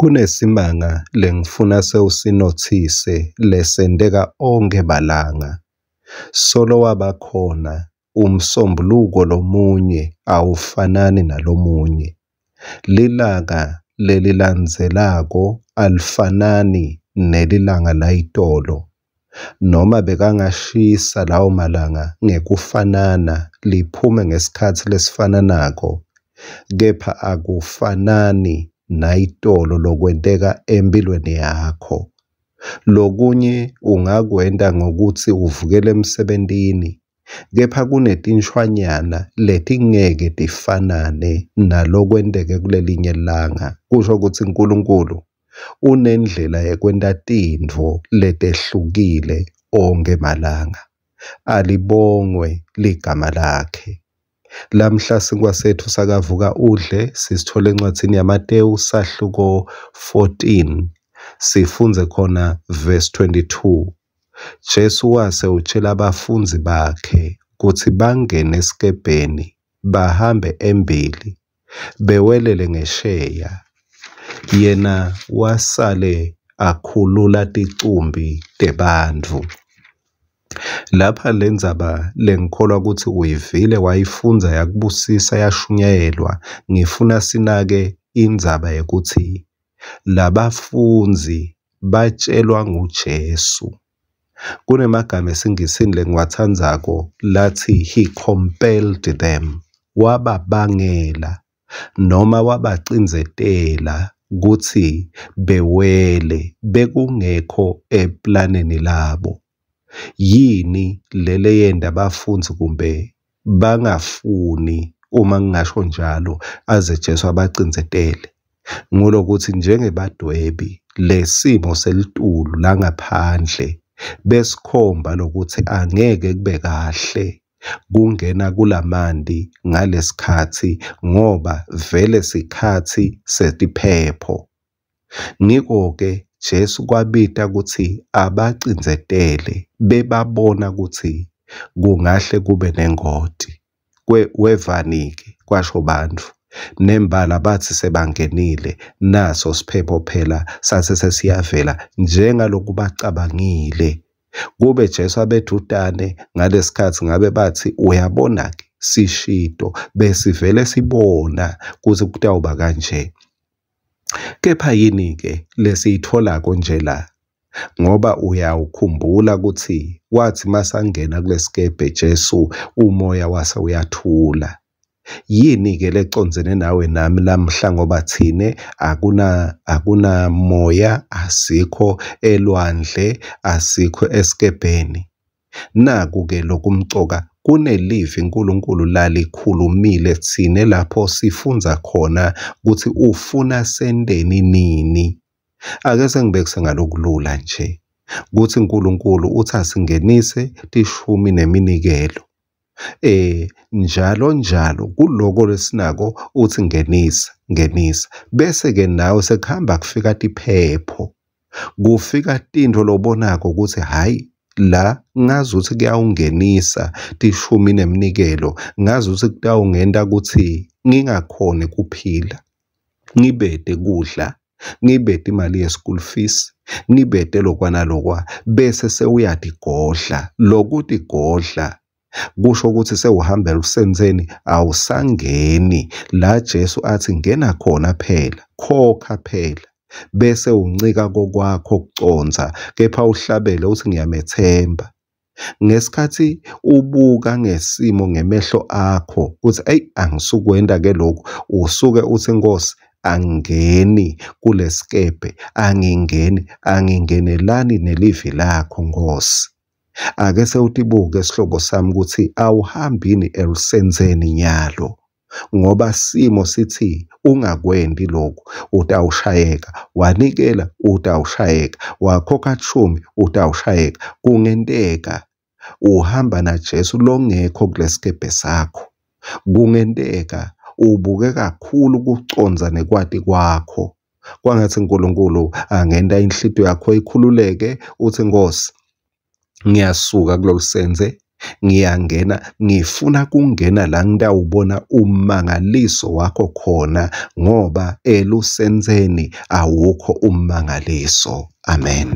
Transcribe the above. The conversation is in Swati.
Kunesimanga lengifuna sewusinothise lesenteka onkhe malanga. Solo waba khona umsombuluko lomunye awufanani nalomunye. Lilanga lelilandzelako alifanani nelilanga layitolo. Noma bekangashisa lawo malanga ngekufanana liphume ngesikhatsi lesifananako, kepha akufanani nayitolo lokwenteka emphilweni yakho. Lokunye ungakwenta ngekutsi uvukele emsebentini, kepha kunetinshwanyana letingeke tifanane nalokwenteke kulelinye langa. Kusho kutsi Nkulunkulu unendlela yekwenta tintfo letehlukile onkhe malanga. Alibongwe ligama lakhe. Lamhla sinkwa setfu sakavuka udle sisithola encwadzini yaMatewu sahluko 14 sifundze khona verse 22. Jesu wase utjela bafundzi bakhe kutsi bangene esikebheni bahambe embili bewelele ngesheya, yena wasale akhulula ticumbi tebantfu. Lapha lendzaba lengikholwa kutsi uyivile wayifundza yakubusisa yashunyayelwa, ngifuna sinake indzaba yekutsi labafundzi batshelwa nguJesu. Kunemagama esiNgisini lengiwatsandzako latsi he compelled them, wababangela noma wabacindzetela kutsi bewele bekungekho eplaneni labo. Yini lele yenta bafundzi kumbe bangafuni uma ngingasho njalo aze Jesu abacindzetele? Ngulokuthi njengebadwebi lesimo selitulu langaphandle besikhomba lokuthi angeke kube kahle kungena kulamanti ngalesikhatsi ngoba vele sikhatsi setiphepho. Ngiko-ke Jesu kwabita kutsi abacindzetele bebabona kutsi kungahle kube nengoti. Wevani-ke kwasho bantfu nembala batsi sebangenile naso siphepho phela sase sesiyavela njengaloku bacabangile. Kube Jesu abedvutane ngalesikhatsi ngabe batsi uyabona-ke sishito besivele sibona kutsi kutawuba kanje. Kepha yini-ke lesiyitholako nje la? Ngoba uyawukhumbula kutsi wathi masangena kulesikebhe Jesu umoya wase uyathula. Yini-ke lecondzene nawe nami lamhla ngoba thine akunamoya, asikho elwandle, asikho esikebheni. Naku-ke lokumcoka kunelivi uNkulunkulu lalikhulumile tsine lapho sifundza khona kutsi ufuna senteni nini. Ake sengibekise ngalokulula nje kutsi uNkulunkulu uthi asingenise tishumi neminikelo. Njalo njalo kuloko lesinako uthi ngenisa ngenisa bese ke nawe sekuhamba kufika tiphepho kufika tintfo lobonako kutsi hhayi la ngazuthi kuyawungenisa tishumi neminikelo ngazuthi kutawungenta kutsi ngingakhoni kuphila ngibete kudla ngibete imali ye-school fees ngibete lokwa nalokwa bese sewuyatigodla lokutigodla kusho ukuthi sewuhamba elusentseni awusangeni la Jesu athi ngena khona phela khokha phela bese uncika kokwakho kucondza kepha uhlabele uthi ngiyamethemba. Ngesikhathi ubuka ngesimo ngemehlo akho uthi eyi angisukwenta ke lokhu, usuke uthi Nkosi angingeni kulesikebhe, angingeni, angingenelani nelivi lakho Nkosi. Ake sewutibuke sihlobo sami kutsi awuhambini elusentseni nyalo ngoba simo sithi ungakwenti lokhu utawushayeka, wanikela utawushayeka, wakhokha shumi utawushayeka. Kungenteka uhamba naJesu longekho kulesikebhe sakho. Kungenteka ubuke kakhulu kucondza nekwati kwakho. Kwangathi uNkulunkulu angenta inhlitiyo yakho ikhululeke uthi Nkosi ngiyasuka kulolu senze. Ngiyangena, ngifuna kungena la ngitawubona ummangaliso wakho khona, ngoba elusentseni awukho ummangaliso. Amen.